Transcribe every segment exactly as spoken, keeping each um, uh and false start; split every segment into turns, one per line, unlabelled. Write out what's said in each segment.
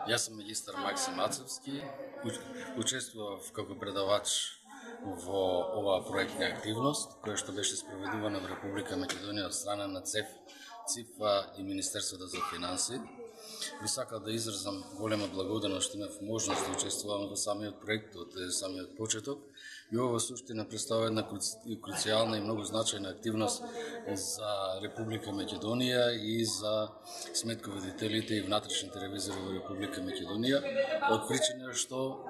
Јас сум магистар Максим Мацевски, учествував како предавач во оваа проектна активност, која што беше спроведувана во Република Македонија од страна на ЦЕФ, ЦИФА и Министерството за финансии. Би сакал да изразам голема благодарност што имав можност да учествувам во самиот проект од самиот почеток. И ова суштина представува една круцијална и многу значајна активност за Република Македонија и за сметководителите и внатрешните ревизори во Република Македонија, од причина што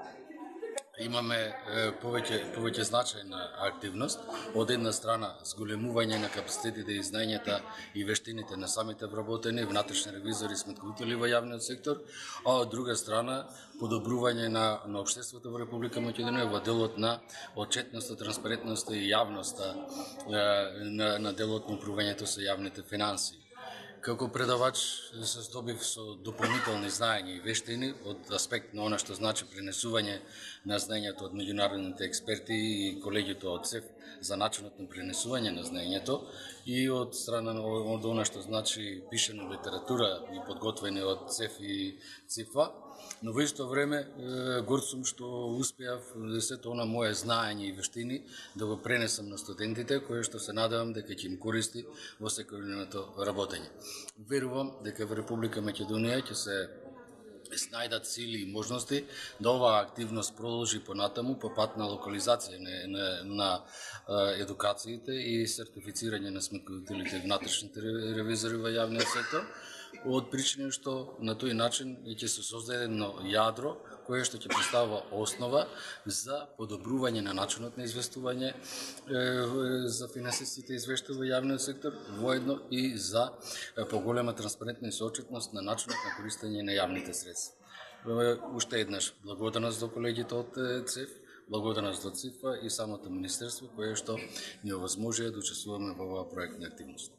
имаме повеќе повеќе значајна активност, од една страна зголемување на капацитетите и знаењата и вештините на самите вработени внатрешни ревизори и сметководители во јавниот сектор, а од друга страна подобрување на на општеството во Република Македонија во делот на отчетноста, транспарентноста и јавноста на на делот на управувањето со јавните финансии. Како предавач се здобив со дополнителни знаења и вештини од аспект на она што значи пренесување на знаењето од меѓународните експерти и колегите од ЦЕФ за начинот на пренесување на знаењето и од страна од она што значи пишена литература и подготвени од ЦЕФ и ЦИФА, но во исто време горд сум што успеав сето она мое знаење и вештини да го пренесам на студентите, кое што се надевам дека ќе им користи во секојдневното работење. Верувам дека во Република Македонија ќе се снајдат сили и можности да оваа активност продолжи понатаму по пат на локализација на, на, на едукациите и сертифицирање на сметководителите и внатрешните ревизори во јавниот сектор, од причина што на тој начин ќе се создаде едно јадро кое што ќе представува основа за подобрување на начинот на известување за финансиските извештаи во јавниот сектор, воедно и за поголема транспарентност и отчетност на начинот на користење на јавните средства. Уште еднаш благодарност до колегите од ЦЕФ, благодарност до ЦИФА и самото министерство кое што ни овозможија да учествуваме во оваа проектна активност.